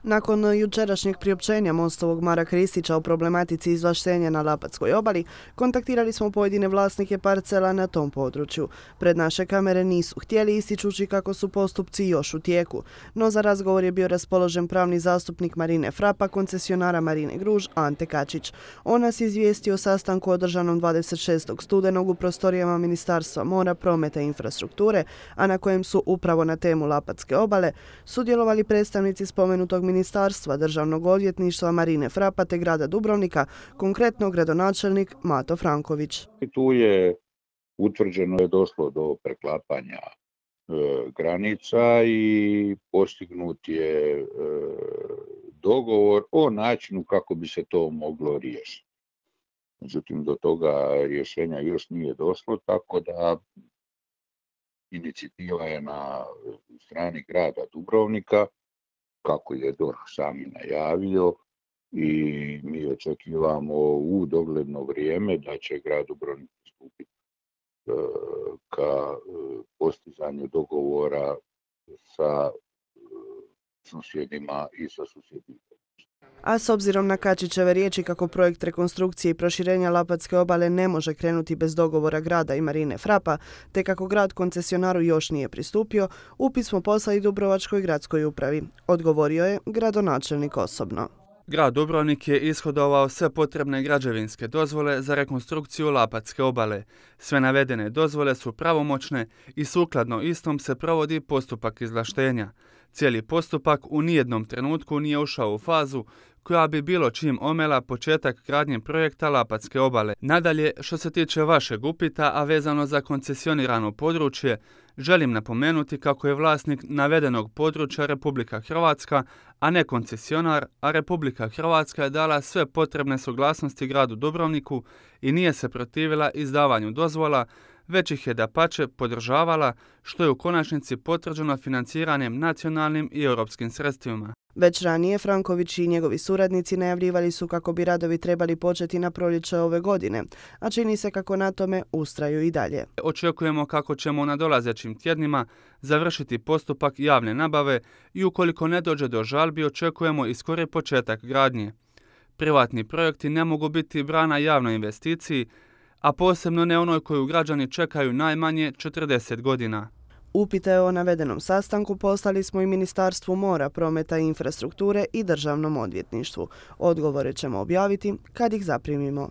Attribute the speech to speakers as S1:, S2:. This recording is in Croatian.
S1: Nakon jučerašnjeg priopćenja Mostovog Mara Kristića o problematici izvlaštenja na Lapatskoj obali, kontaktirali smo pojedine vlasnike parcela na tom području. Pred naše kamere nisu htjeli, ističući kako su postupci još u tijeku. No za razgovor je bio raspoložen pravni zastupnik Marine Frapa, koncesionara Marine Gruž, Ante Kačić. On nas izvijestio o sastanku održanom 26. studenog u prostorijama Ministarstva mora, prometa i infrastrukture, a na kojem su upravo na temu Lapatske obale sudjelovali predstavnici spomenutog ministarstva, Državnog odvjetništva Marine Frapa te grada Dubrovnika, konkretno gradonačelnik Mato Franković.
S2: Tu je utvrđeno je došlo do preklapanja granica i postignut je dogovor o načinu kako bi se to moglo riješiti. Međutim, do toga rješenja još nije došlo, tako da inicijativa je na strani grada Dubrovnika, kako je DORH sami najavio, i mi očekivamo u dogledno vrijeme da će grad Dubrovnik pristupiti ka postizanju dogovora sa susjedima i sa susjedima.
S1: A s obzirom na Kačićeve riječi kako projekt rekonstrukcije i proširenja Lapatske obale ne može krenuti bez dogovora grada i Marine Frapa, te kako grad koncesionaru još nije pristupio, upit smo poslali Dubrovačkoj gradskoj upravi. Odgovorio je gradonačelnik osobno.
S3: Grad Dubrovnik je ishodovao sve potrebne građevinske dozvole za rekonstrukciju Lapatske obale. Sve navedene dozvole su pravomoćne i sukladno istom se provodi postupak izvlaštenja. Cijeli postupak u nijednom trenutku nije ušao u fazu koja bi bilo čim omela početak gradnje projekta Lapatske obale. Nadalje, što se tiče vašeg upita, a vezano za koncesionirano područje, želim napomenuti kako je vlasnik navedenog područja Republika Hrvatska, a ne koncesionar, a Republika Hrvatska je dala sve potrebne suglasnosti gradu Dubrovniku i nije se protivila izdavanju dozvola, već ih je dapače podržavala, što je u konačnici potvrđeno financiranjem nacionalnim i europskim sredstvima.
S1: Već ranije Franković i njegovi suradnici najavljivali su kako bi radovi trebali početi na proljeće ove godine, a čini se kako na tome ustraju i dalje.
S3: Očekujemo kako ćemo u nadolazećim tjednima završiti postupak javne nabave i ukoliko ne dođe do žalbi očekujemo i skori početak gradnje. Privatni projekti ne mogu biti brana javnoj investiciji, a posebno ne onoj koju građani čekaju najmanje 40 godina.
S1: Upite o navedenom sastanku poslali smo i Ministarstvu mora, prometa i infrastrukture i Državnom odvjetništvu. Odgovore ćemo objaviti kad ih zaprimimo.